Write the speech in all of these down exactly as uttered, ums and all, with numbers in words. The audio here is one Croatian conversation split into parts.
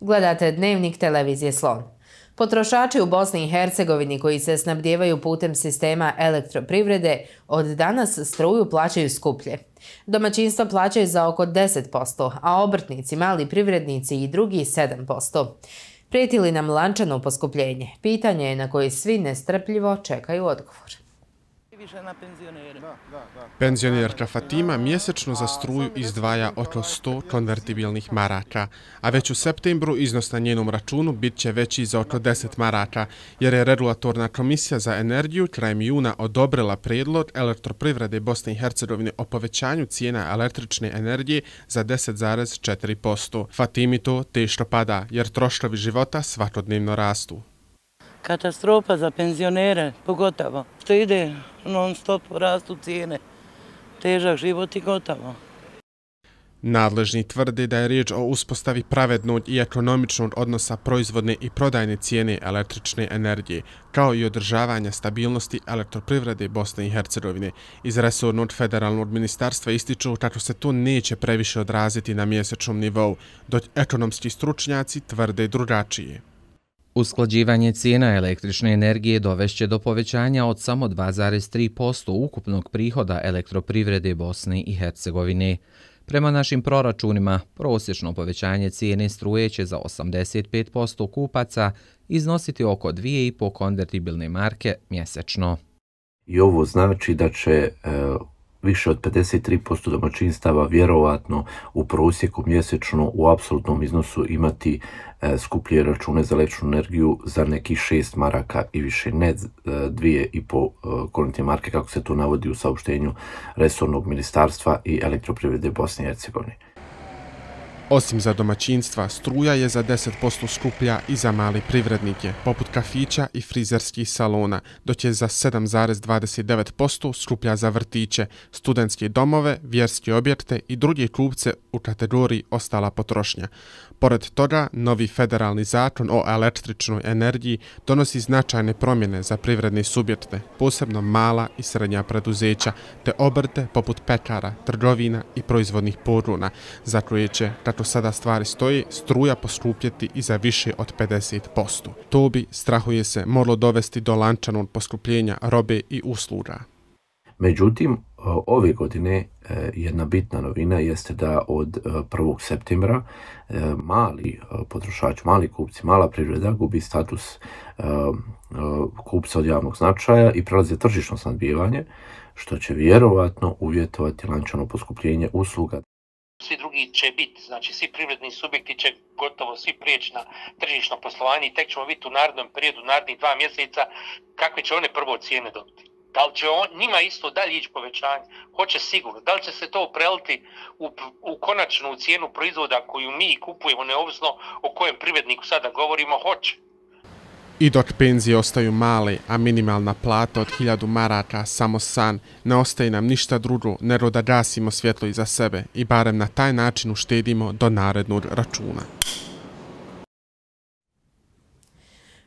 Gledate Dnevnik televizije Slon. Potrošači u Bosni i Hercegovini koji se snabdijevaju putem sistema elektroprivrede od danas struju plaćaju skuplje. Domaćinstva plaćaju za oko deset posto, a obrtnici, mali privrednici i drugi sedam posto. Prijeti li nam lančano poskupljenje? Pitanje je na koje svi nestrpljivo čekaju odgovor. Penzionerka Fatima mjesečno za struju izdvaja oko sto konvertibilnih maraka, a već u septembru iznos na njenom računu bit će veći za oko deset maraka, jer je Regulatorna komisija za energiju krajem juna odobrila prijedlog Elektroprivrede Bosne i Hercegovine o povećanju cijena električne energije za deset zarez četiri posto. Fatimi to teško pada, jer troškovi života svakodnevno rastu. Katastrofa za penzionere, pogotovo, što ide non stop, rastu cijene, težak život i gotovo. Nadležni tvrde da je riječ o uspostavi pravednog i ekonomičnog odnosa proizvodne i prodajne cijene električne energije, kao i održavanja stabilnosti Elektroprivrede Bosne i Hercegovine. Iz resornog federalnog ministarstva ističu kako se to neće previše odraziti na mjesečnom nivou, dok ekonomski stručnjaci tvrde drugačije. Usklađivanje cijena električne energije dovešće do povećanja od samo dva zarez tri posto ukupnog prihoda Elektroprivrede Bosne i Hercegovine. Prema našim proračunima, prosječno povećanje cijene struje će za osamdeset pet posto kupaca iznositi oko dvije i po konvertibilne marke mjesečno. I ovo znači da će e, više od pedeset tri posto domaćinstava vjerovatno u prosjeku mjesečno u apsolutnom iznosu imati e, skuplje račune za električnu energiju za nekih šest maraka i više, ne e, dvije i po konvertibilne marke kako se to navodi u saopštenju resornog ministarstva i Elektroprivrede Bosne i Hercegovine. Osim za domaćinstva, struja je za deset posto skuplja i za male privrednike, poput kafića i frizerskih salona, dok je za sedam zarez dvadeset devet posto skuplja za vrtiće, studentske domove, vjerske objekte i druge kupce u kategoriji ostala potrošnja. Pored toga, novi federalni zakon o električnoj energiji donosi značajne promjene za privredne subjekte, posebno mala i srednja preduzeća, te obrte poput pekara, trgovina i proizvodnih pogona, za koje će, kako sada stvari stoji, struja poskupjeti i za više od pedeset posto. To bi, strahuje se, moralo dovesti do lančanog poskupljenja robe i usluga. Međutim, ove godine jedna bitna novina jeste da od prvog septembra mali potrošači, mali kupci, mala privreda gubi status kupca od javnog značaja i prelazi tržišno snabdijevanje, što će vjerovatno uvjetovati lančano poskupljenje usluga. Svi drugi će biti, znači svi privredni subjekti će gotovo svi prijeći na tržišno poslovanje i tek ćemo vidjeti u narednom periodu, narednih dva mjeseca, kakve će one prvo cijene dobiti. Da li će on, njima isto dalje ići povećanje? Hoće sigurno. Da li će se to preliti u, u konačnu cijenu proizvoda koju mi kupujemo, neovisno o kojem privredniku sada govorimo? Hoće. I dok penzije ostaju male, a minimalna plata od hiljadu maraka samo san, ne ostaje nam ništa drugo nego da gasimo svjetlo iza sebe i barem na taj način uštedimo do narednog računa.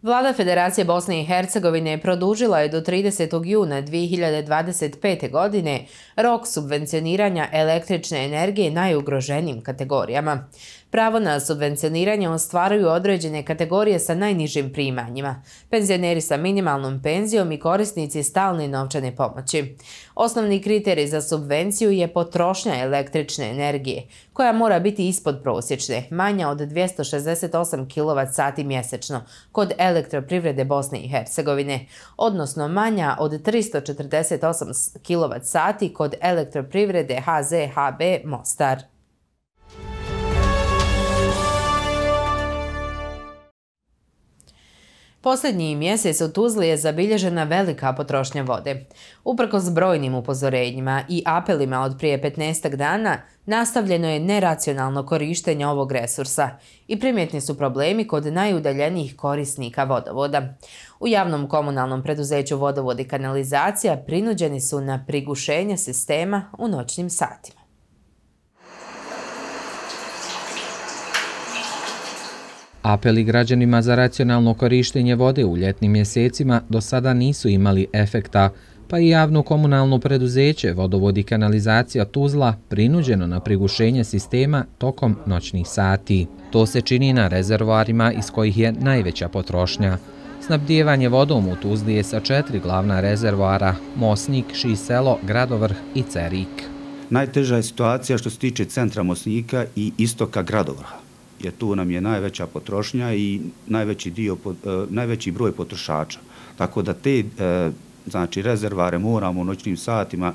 Vlada Federacije Bosne i Hercegovine produžila je do tridesetog juna dvije hiljade dvadeset pete. godine rok subvencioniranja električne energije najugroženijim kategorijama. Pravo na subvencioniranje ostvaruju određene kategorije sa najnižim primanjima, penzioneri sa minimalnom penzijom i korisnici stalne novčane pomoći. Osnovni kriterij za subvenciju je potrošnja električne energije, koja mora biti ispod prosječne, manja od dvjesto šezdeset osam kilovat sati mjesečno kod Elektroprivrede Bosne i Hercegovine, odnosno manja od tristo četrdeset osam kilovat sati kod Elektroprivrede H Z H B Mostar. Posljednji mjesec u Tuzli je zabilježena velika potrošnja vode. Uprkos brojnim upozorenjima i apelima od prije petnaestak dana, nastavljeno je neracionalno korištenje ovog resursa i primjetni su problemi kod najudaljenijih korisnika vodovoda. U javnom komunalnom preduzeću Vodovod i kanalizacija prinuđeni su na prigušenje sistema u noćnim satima. Apeli građanima za racionalno korištenje vode u ljetnim mjesecima do sada nisu imali efekta, pa i javno komunalno preduzeće Vodovod i kanalizacija Tuzla prinuđeno na prigušenje sistema tokom noćnih sati. To se čini na rezervoarima iz kojih je najveća potrošnja. Snabdijevanje vodom u Tuzli je sa četiri glavna rezervoara: Mosnik, Šiselo, Gradovrh i Cerik. Najteža je situacija što se tiče centra Mosnika i istoka Gradovrha, jer tu nam je najveća potrošnja i najveći, dio, najveći broj potrošača. Tako da te znači, rezervare moramo u noćnim satima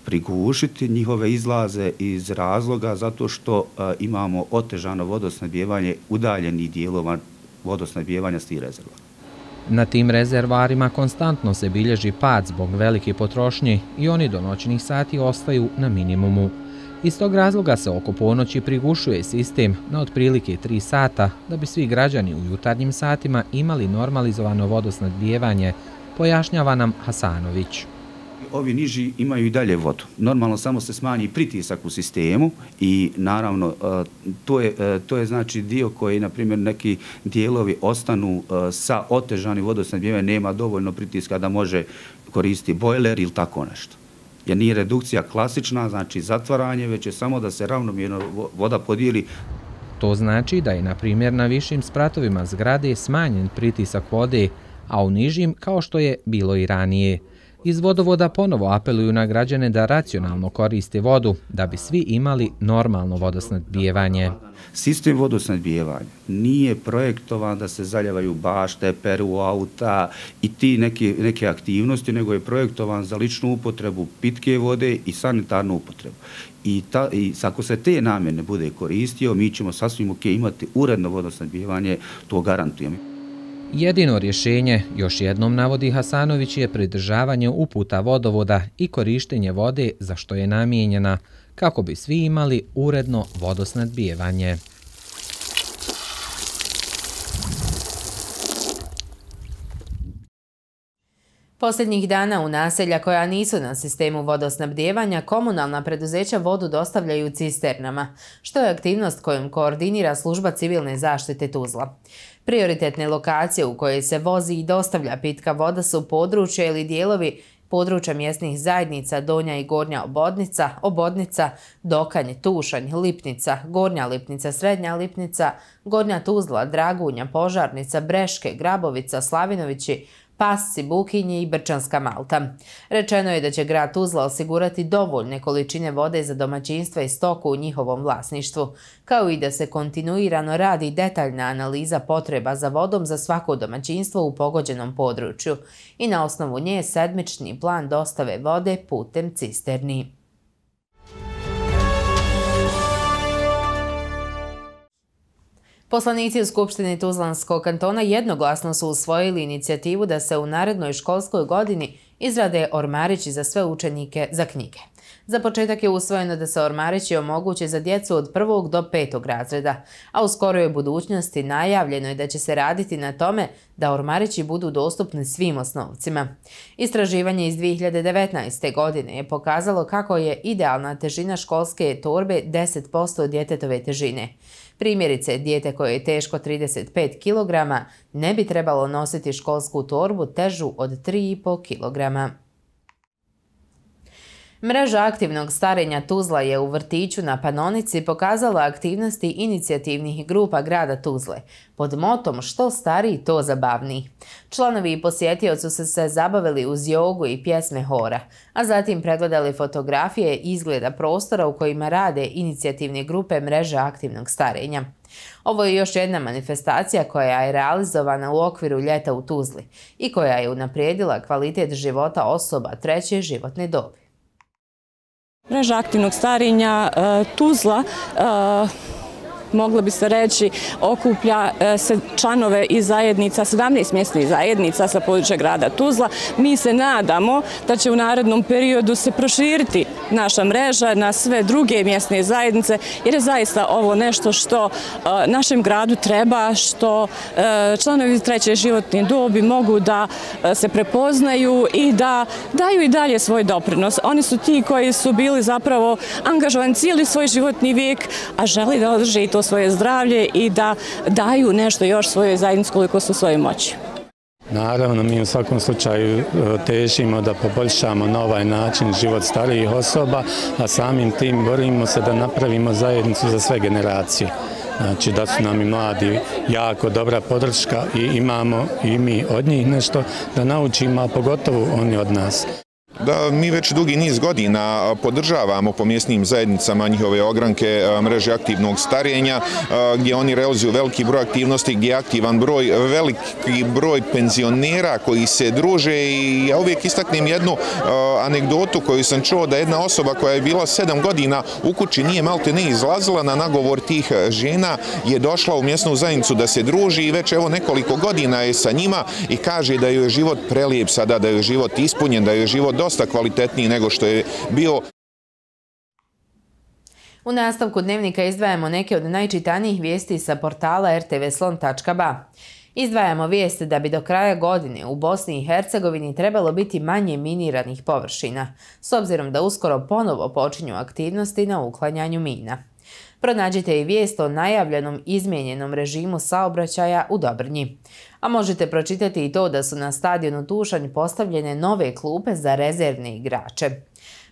prigušiti njihove izlaze iz razloga zato što imamo otežano vodosnabdijevanje udaljenih dijelova vodosnabdijevanja s tih rezervara. Na tim rezervarima konstantno se bilježi pad zbog velike potrošnje i oni do noćnih sati ostaju na minimumu. Iz tog razloga se oko ponoći prigušuje sistem na otprilike tri sata da bi svi građani u jutarnjim satima imali normalizovano vodosnabdijevanje, pojašnjava nam Hasanović. Ovi niži imaju i dalje vodu. Normalno samo se smanji pritisak u sistemu i naravno to je, to je znači dio koji, na primjer, neki dijelovi ostanu sa otežanim vodosnabdijevanjem, nema dovoljno pritiska da može koristiti bojler ili tako nešto. Jer nije redukcija klasična, znači zatvaranje, već je samo da se ravnomjerno voda podijeli. To znači da je, na primjer, na višim spratovima zgrade smanjen pritisak vode, a u nižim kao što je bilo i ranije. Iz Vodovoda ponovo apeluju na građane da racionalno koriste vodu, da bi svi imali normalno vodosnabdijevanje. Sistem vodosnabdijevanja nije projektovan da se zaljevaju bašte, peru auta i ti neke, neke aktivnosti, nego je projektovan za ličnu upotrebu pitke vode i sanitarnu upotrebu. I, ta, i ako se te namjene bude koristio, mi ćemo sasvim ok imati uredno vodosnabdijevanje, to garantujem. Jedino rješenje, još jednom navodi Hasanović, je pridržavanje uputa Vodovoda i korištenje vode za što je namijenjena, kako bi svi imali uredno vodosnabdijevanje. Posljednjih dana u naselja koja nisu na sistemu vodosnabdijevanja, komunalna preduzeća vodu dostavljaju cisternama, što je aktivnost kojom koordinira služba civilne zaštite Tuzla. Prioritetne lokacije u koje se vozi i dostavlja pitka voda su područje ili dijelovi područja mjesnih zajednica Donja i Gornja Obodnica, Obodnica, Dokanj, Tušanj, Lipnica, Gornja Lipnica, Srednja Lipnica, Gornja Tuzla, Dragunja, Požarnica, Breške, Grabovica, Slavinovići, Pasci, Bukinji i Brčanska Malta. Rečeno je da će grad Tuzla osigurati dovoljne količine vode za domaćinstva i stoku u njihovom vlasništvu, kao i da se kontinuirano radi detaljna analiza potreba za vodom za svako domaćinstvo u pogođenom području i na osnovu nje sedmični plan dostave vode putem cisterni. Poslanici u Skupštini Tuzlanskog kantona jednoglasno su usvojili inicijativu da se u narednoj školskoj godini izrade ormarići za sve učenike za knjige. Za početak je usvojeno da se ormarići omoguće za djecu od prvog do petog razreda, a u skoroj budućnosti najavljeno je da će se raditi na tome da ormarići budu dostupni svim osnovcima. Istraživanje iz dvije hiljade devetnaeste. godine je pokazalo kako je idealna težina školske torbe deset posto djetetove težine. Primjerice, dijete koje je teško trideset pet kilograma ne bi trebalo nositi školsku torbu težu od tri i po kilograma. Mreža aktivnog starenja Tuzla je u vrtiću na Panonici pokazala aktivnosti inicijativnih grupa grada Tuzle pod motom što stariji to zabavniji. Članovi i posjetioci su se zabavili uz jogu i pjesme hora, a zatim pregledali fotografije izgleda prostora u kojima rade inicijativne grupe mreže aktivnog starenja. Ovo je još jedna manifestacija koja je realizovana u okviru ljeta u Tuzli i koja je unaprijedila kvalitet života osoba treće životne dobi. Mreža aktivnog starenja Tuzla, moglo bi se reći, okuplja se članove iz zajednica, sedamnaest mjesnih zajednica sa područja grada Tuzla. Mi se nadamo da će u narednom periodu se proširiti naša mreža na sve druge mjesne zajednice, jer je zaista ovo nešto što našem gradu treba, što članovi treće životne dobi mogu da se prepoznaju i da daju i dalje svoj doprinos. Oni su ti koji su bili zapravo angažovani cijeli svoj životni vijek, a želi da održe i to svoje zdravlje i da daju nešto još svojoj zajednici koliko su svoje moći. Naravno, mi u svakom slučaju težimo da poboljšamo na ovaj način život starijih osoba, a samim tim borimo se da napravimo zajednicu za sve generacije. Znači da su nam i mladi jako dobra podrška i imamo i mi od njih nešto da naučimo, a pogotovo oni od nas. Da, mi već dugi niz godina podržavamo po mjesnim zajednicama njihove ogranke mreže aktivnog starenja, gdje oni realizuju veliki broj aktivnosti, gdje je aktivan broj, veliki broj penzionera koji se druže i ja uvijek istaknem jednu anegdotu koju sam čuo da jedna osoba koja je bila sedam godina u kući nije malte ne izlazila, na nagovor tih žena je došla u mjesnu zajednicu da se druži i već evo nekoliko godina je sa njima i kaže da joj je život prelijep sada, da joj je život ispunjen, da joj je život dosta kvalitetniji nego što je bio. U nastavku dnevnika izdvajamo neke od najčitanijih vijesti sa portala er te ve slon tačka ba. Izdvajamo vijesti da bi do kraja godine u Bosni i Hercegovini trebalo biti manje miniranih površina, s obzirom da uskoro ponovo počinju aktivnosti na uklanjanju mina. Pronađite i vijest o najavljenom izmijenjenom režimu saobraćaja u Dobrnji. A možete pročitati i to da su na stadionu Tušanj postavljene nove klupe za rezervne igrače.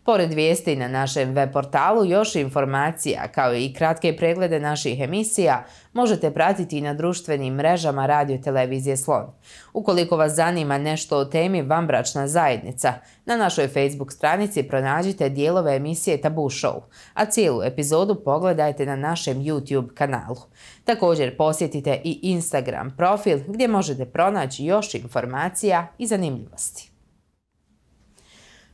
Pored vijesti na našem web portalu još informacija kao i kratke preglede naših emisija možete pratiti i na društvenim mrežama Radio Televizije Slon. Ukoliko vas zanima nešto o temi vanbračna zajednica, na našoj Facebook stranici pronađite dijelove emisije Tabu Show, a cijelu epizodu pogledajte na našem YouTube kanalu. Također posjetite i Instagram profil gdje možete pronaći još informacija i zanimljivosti.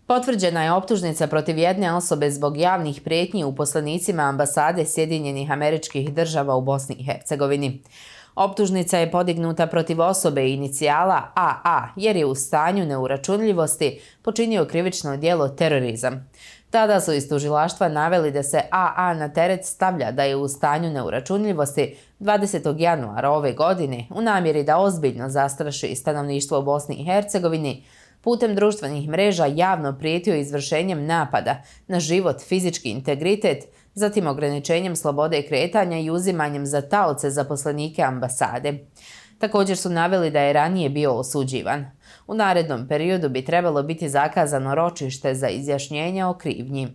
Potvrđena je optužnica protiv jedne osobe zbog javnih prijetnji uposlenicima ambasade Sjedinjenih Američkih Država u Bosni i Hercegovini. Optužnica je podignuta protiv osobe inicijala A A jer je u stanju neuračunljivosti počinio krivično djelo terorizam. Tada su iz tužilaštva naveli da se A A na teret stavlja da je u stanju neuračunljivosti dvadesetog januara ove godine u namjeri da ozbiljno zastraši stanovništvo u Bosni i Hercegovini, putem društvenih mreža javno prijetio izvršenjem napada na život, fizički integritet, zatim ograničenjem slobode kretanja i uzimanjem za taoce zaposlenike ambasade. Također su naveli da je ranije bio osuđivan. U narednom periodu bi trebalo biti zakazano ročište za izjašnjenje o krivnji.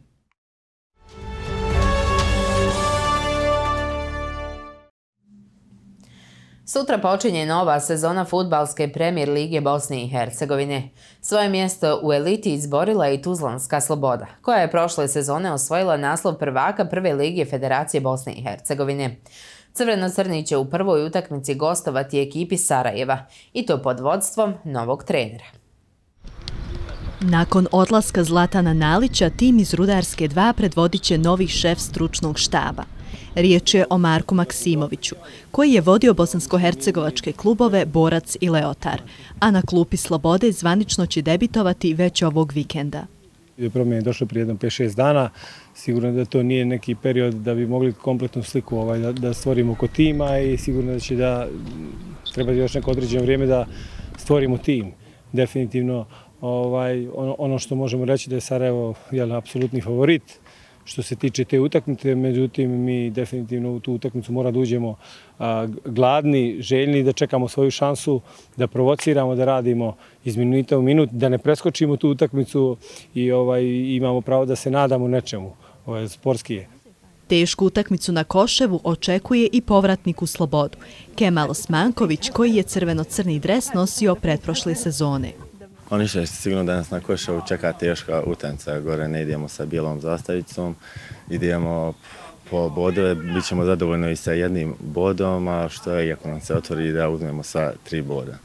Sutra počinje nova sezona fudbalske Premier lige Bosne i Hercegovine. Svoje mjesto u eliti izborila i Tuzlanska Sloboda, koja je prošle sezone osvojila naslov prvaka prve lige Federacije Bosne i Hercegovine. Crveno-crni će u prvoj utakmici gostovati ekipi Sarajeva, i to pod vodstvom novog trenera. Nakon odlaska Zlatana Nalića, tim iz Rudarske dva predvodit će novi šef stručnog štaba. Riječ je o Marku Maksimoviću, koji je vodio bosansko-hercegovačke klubove Borac i Leotar, a na klupi Slobode zvanično će debitovati već ovog vikenda. Promjene je došlo prije jednom pet šest dana, sigurno da to nije neki period da bi mogli kompletnu sliku ovaj, da, da stvorimo oko tima i sigurno da će da treba još neko određeno vrijeme da stvorimo tim. Definitivno ovaj, ono, ono što možemo reći da je Sarajevo jel, apsolutni favorit što se tiče te utakmice, međutim mi definitivno u tu utakmicu mora da uđemo a, gladni, željni, da čekamo svoju šansu, da provociramo, da radimo iz minuta u minut, da ne preskočimo tu utakmicu i ovaj, imamo pravo da se nadamo nečemu, ovaj, sportski je. Tešku utakmicu na Koševu očekuje i povratnik u Slobodu, Kemal Osmanković, koji je crveno-crni dres nosio pretprošle sezone. Oni što je sigurno danas na Koševu čeka teška utakmica, gore ne idemo sa bijelom zastavicom, idemo po bodove, bit ćemo zadovoljni i sa jednim bodom, a što je, iako nam se otvori, da uzmemo sa tri boda.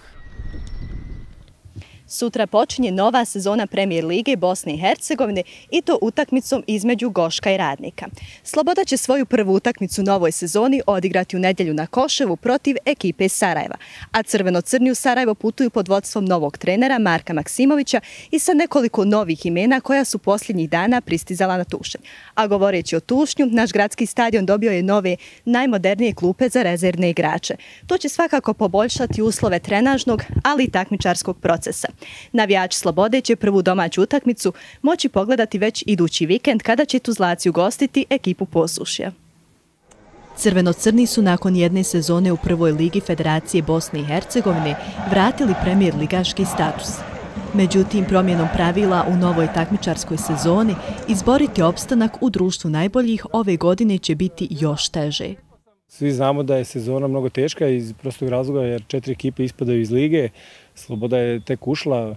Sutra počinje nova sezona Premier lige Bosne i Hercegovine i to utakmicom između Goška i Radnika. Sloboda će svoju prvu utakmicu u novoj sezoni odigrati u nedjelju na Koševu protiv ekipe Sarajeva, a crveno-crni u Sarajevo putuju pod vodstvom novog trenera Marka Maksimovića i sa nekoliko novih imena koja su posljednjih dana pristizala na Tušanj. A govoreći o Tušnju, naš gradski stadion dobio je nove, najmodernije klupe za rezervne igrače. To će svakako poboljšati uslove trenažnog, ali i takmičarskog procesa. Navijači Slobode će prvu domaću utakmicu moći pogledati već idući vikend kada će Tuzlaci ugostiti ekipu Posušja. Crveno-crni su nakon jedne sezone u prvoj ligi Federacije Bosne i Hercegovine vratili premijer ligaški status. Međutim, promjenom pravila u novoj takmičarskoj sezoni izboriti opstanak u društvu najboljih ove godine će biti još teže. Svi znamo da je sezona mnogo teška iz prostog razloga jer četiri ekipe ispadaju iz lige. Sloboda je tek ušla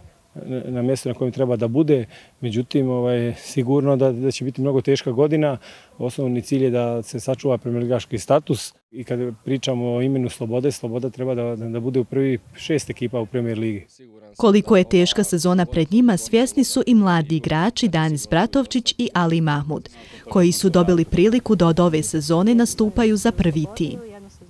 na mjesto na kojem treba da bude. Međutim, ovaj, sigurno da, da će biti mnogo teška godina. Osnovni cilj je da se sačuva premijerligaški status. I kad pričamo o imenu Slobode, Sloboda treba da, da bude u prvi šest ekipa u Premijer ligi. Koliko je teška sezona pred njima, svjesni su i mladi igrači Danis Bratovčić i Ali Mahmud, koji su dobili priliku da od ove sezone nastupaju za prvi tim.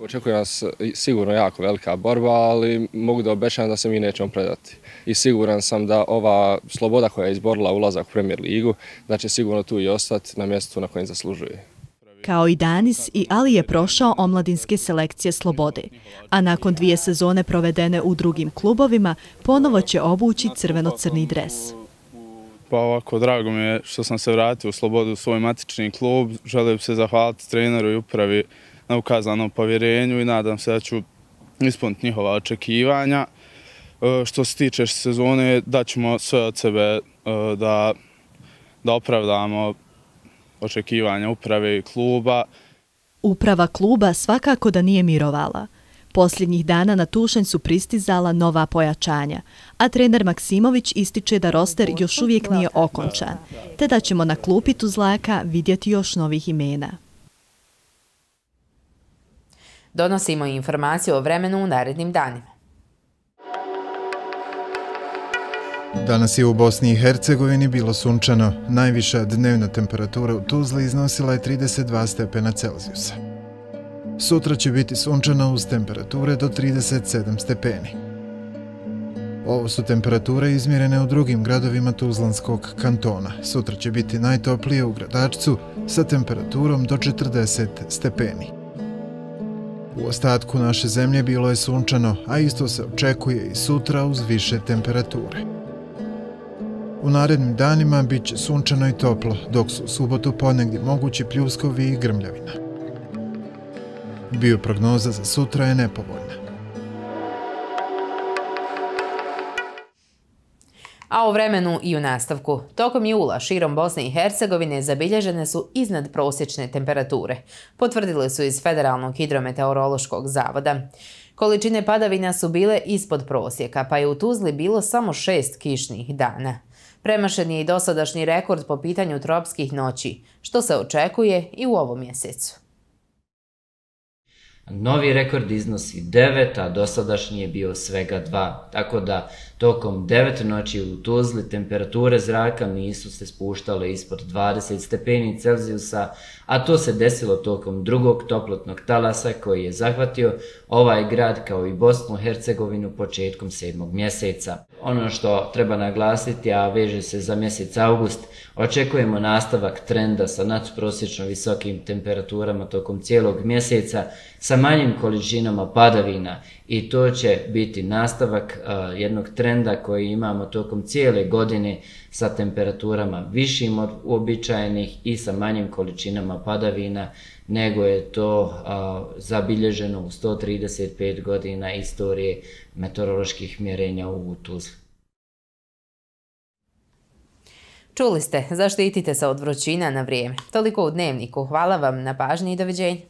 Očekuje nas sigurno jako velika borba, ali mogu da obećam da se mi nećemo predati. I siguran sam da ova Sloboda koja je izborila ulazak u Premijer ligu, da će sigurno tu i ostati na mjestu na kojem zaslužuje. Kao i Danis, i Ali je prošao omladinske selekcije Slobode, a nakon dvije sezone provedene u drugim klubovima, ponovo će obući crveno-crni dres. Pa ovako, drago mi je što sam se vratio u Slobodu u svoj matični klub. Želim se zahvaliti treneru i upravi na ukazanom povjerenju i nadam se da ću ispuniti njihova očekivanja. Što se tiče sezone, daćemo sve od sebe da, da opravdamo očekivanja uprave i kluba. Uprava kluba svakako da nije mirovala. Posljednjih dana na Tušanj su pristizala nova pojačanja, a trener Maksimović ističe da roster još uvijek nije okončan, te da ćemo na klupi Tuzlaka vidjeti još novih imena. Donosimo informaciju o vremenu u narednim danima. Danas je u Bosni i Hercegovini bilo sunčano. Najviša dnevna temperatura u Tuzli iznosila je trideset dva stepena Celzijusa. Sutra će biti sunčano uz temperature do trideset sedam stepeni. Ovo su temperature izmjerene u drugim gradovima Tuzlanskog kantona. Sutra će biti najtoplije u Gradačcu sa temperaturom do četrdeset stepeni. U ostatku naše zemlje bilo je sunčano, a isto se očekuje i sutra uz više temperature. U narednim danima bit će sunčano i toplo, dok su u subotu ponegdje mogući pljuskovi i grmljavina. Bioprognoza za sutra je nepovoljna. A o vremenu i u nastavku. Tokom jula širom Bosne i Hercegovine zabilježene su iznad prosječne temperature, potvrdili su iz Federalnog hidrometeorološkog zavoda. Količine padavina su bile ispod prosjeka, pa je u Tuzli bilo samo šest kišnih dana. Premašen je i dosadašnji rekord po pitanju tropskih noći, što se očekuje i u ovom mjesecu. Novi rekord iznosi devet, a dosadašnji je bio svega dva, tako da tokom devet noći u Tuzli temperature zraka nisu se spuštale ispod dvadeset stepeni Celzijusa, a to se desilo tokom drugog toplotnog talasa koji je zahvatio ovaj grad kao i Bosnu i Hercegovinu početkom sedmog mjeseca. Ono što treba naglasiti, a veže se za mjesec avgust, očekujemo nastavak trenda sa nadprosječno visokim temperaturama tokom cijelog mjeseca sa manjim količinama padavina i to će biti nastavak uh, jednog trenda koji imamo tokom cijele godine sa temperaturama višim od uobičajenih i sa manjim količinama padavina nego je to uh, zabilježeno u sto trideset pet godina istorije meteoroloških mjerenja u Tuzli. Čuli ste, zaštitite se od vrućina na vrijeme. Toliko u Dnevniku. Hvala vam na pažnji i doviđenja.